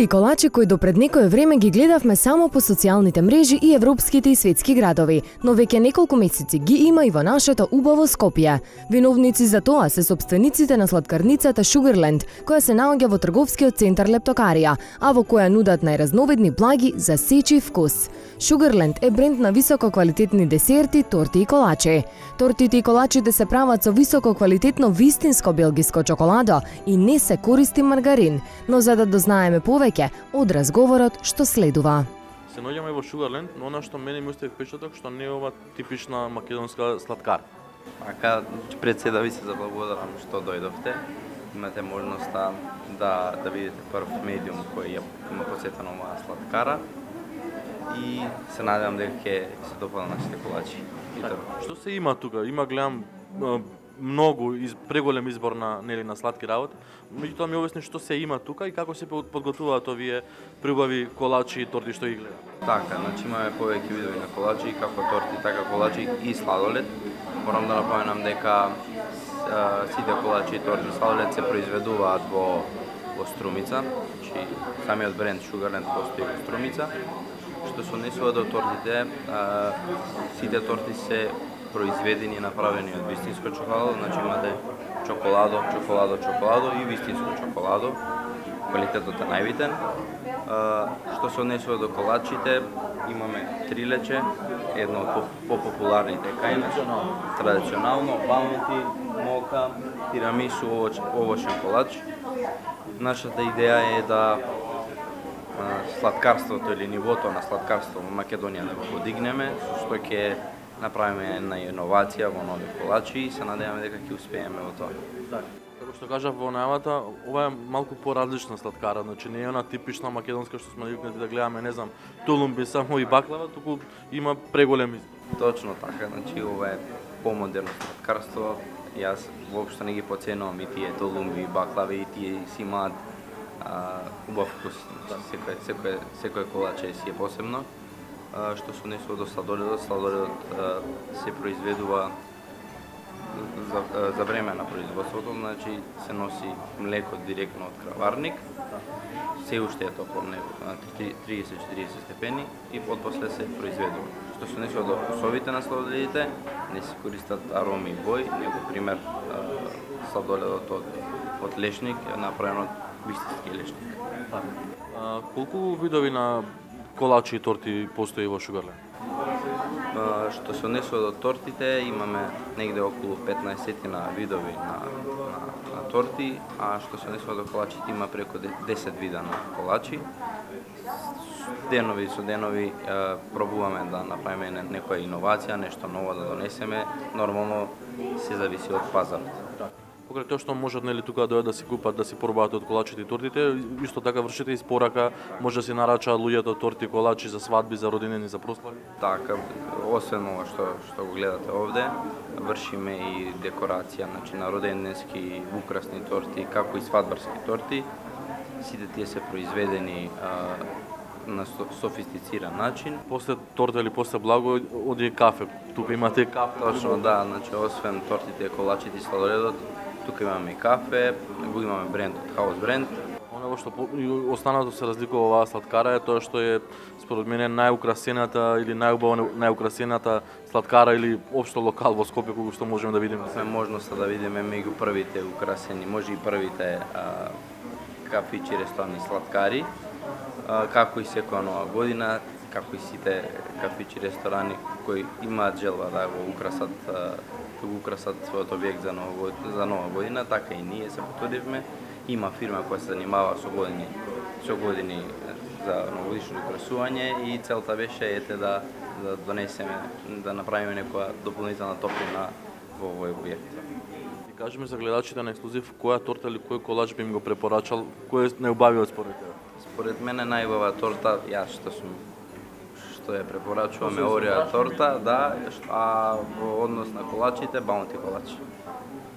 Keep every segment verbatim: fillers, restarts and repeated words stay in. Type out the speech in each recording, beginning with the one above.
Торти и колачи кои до пред некое време ги гледавме само по социјалните мрежи и европските и светски градови, но веќе неколку месеци ги има и во нашето убаво Скопје. Виновници за тоа се сопствениците на сладкарницата Sugarland, која се наоѓа во трговскиот центар Лептокарија, а во која нудат најразновидни благи за сечи вкус. Sugarland е бренд на високо квалитетни десерти, торти и колачи. Тортите и колачите се прават со високо квалитетно вистинско белгиско чоколадо и не се користи маргарин, но за да дознаеме повеќе од разговорот што следува. Се наоѓаме во Sugarland, но она што мене ми остави впечаток што не е ова типична македонска сладкар. Ака, пред се да ви се заблагодарам што дојдовте. Имате можноста да да видите прв медиум кој ја има посетена оваа сладкара и се надевам дека ќе се допаднат нашите колачи. Што се има тука? Има гледам многу из, преголем избор на нели на сладки работи. Меѓутоа ми обясни што се има тука и како се подготвуваат овие прибави колачи и торти што ги гледам. Така, значи имаме повеќе видови на колачи, како торти, така колачи и сладолед. Морам да напоменам дека а, сите колачи и торти и сладолед се произведуваат во во Струмица, значи самиот бренд Sugarland постои во Струмица. Што се однесува до тортите, а, сите торти се произведени и направени од вистинско чоколадо, значи имате чоколадо, чоколадо, чоколадо и вистинско чоколадо. Квалитетот е најбитен. Што се однесува до колачите, имаме трилече, едно од попопуларните кај нас, традиционално, баунти, мока, тирамису, овошен колач. Нашата идеја е да сладкарството или нивото на сладкарство во Македонија да го подигнеме, што ќе направиме една иновација во нови колачи и се надеваме дека ќе успееме во тоа. Така. Како што кажав во најавата, ова е малку поразлична сладкара, значи не е она типична македонска што сме навикнати да гледаме, не знам, тулумби само и баклава, туку има преголем избор. Точно така, значи ова е помодерно сладкарство. Јас воопшто не ги поценувам и тие тулумби, баклави, и тие си имаат убав вкус. Секој секој секој колаче си е посебно. А, што се однесува до сладоледот, сладоледот а, се произведува за, а, за време на производството, значи се носи млеко директно од краварник, се уште е топло млеко на триесет до четириесет степени и потпосле се произведува. Што се однесува до вкусовите на сладоледите, не се користат ароми и бои, него пример а, сладоледот од, од лешник е направен од вистински лешник. А, колку видови на колачи и торти постои во Sugarland? Што се однесува до тортите, имаме негде околу петнаесет видови на, на, на торти, а што се однесува до колачите има преку десет вида на колачи. Денови со денови е, пробуваме да направиме некоја иновација, нешто ново да донесеме, нормално се зависи од пазарот. Покрај тоа што можат нели тука да дојдат да си купат, да си пробаат од колачите и тортите, исто така вршите испорака, може да си нарачаат луѓето торти и колачи за свадби, за родендени, за прослави. Така, освен ова што што го гледате овде, вршиме и декорација, значи на роденденски украсни торти, како и свадбарски торти. Сите тие се произведени а, на софистициран начин. После торта или после благо оди кафе. Тука имате кафе. Точно, да, значи освен тортите, колачите и сладоледот, тука имаме и кафе, го имаме бренд од Хаус бренд. Оно што останато се разликува оваа сладкара е тоа што е според мене најукрасената или најубаво најукрасената сладкара или општо локал во Скопје кој што можеме да видиме. Имаме можноста да видиме меѓу првите украсени, може и првите а, кафичи, ресторани, сладкари. А, како и секоја нова година, како и сите кафичи, ресторани кои имаат желба да го украсат да го украсат својот објект за нова, за нова година, така и ние се потрудивме. Има фирма која се занимава со години, со години за новогодишно украсување и целта беше ете да да донесеме, да направиме некоја дополнителна топлина во овој објект. И кажеме за гледачите на ексклузив, која торта или кој колач би им го препорачал, кој е најубавиот според тебе? Според мене најубава торта, јас што сум што ја препорачуваме Орео торта, да, а во однос на колачите, баунти колач.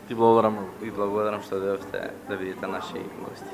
Ти благодарам многу. И благодарам што дојдовте да видите наши гости.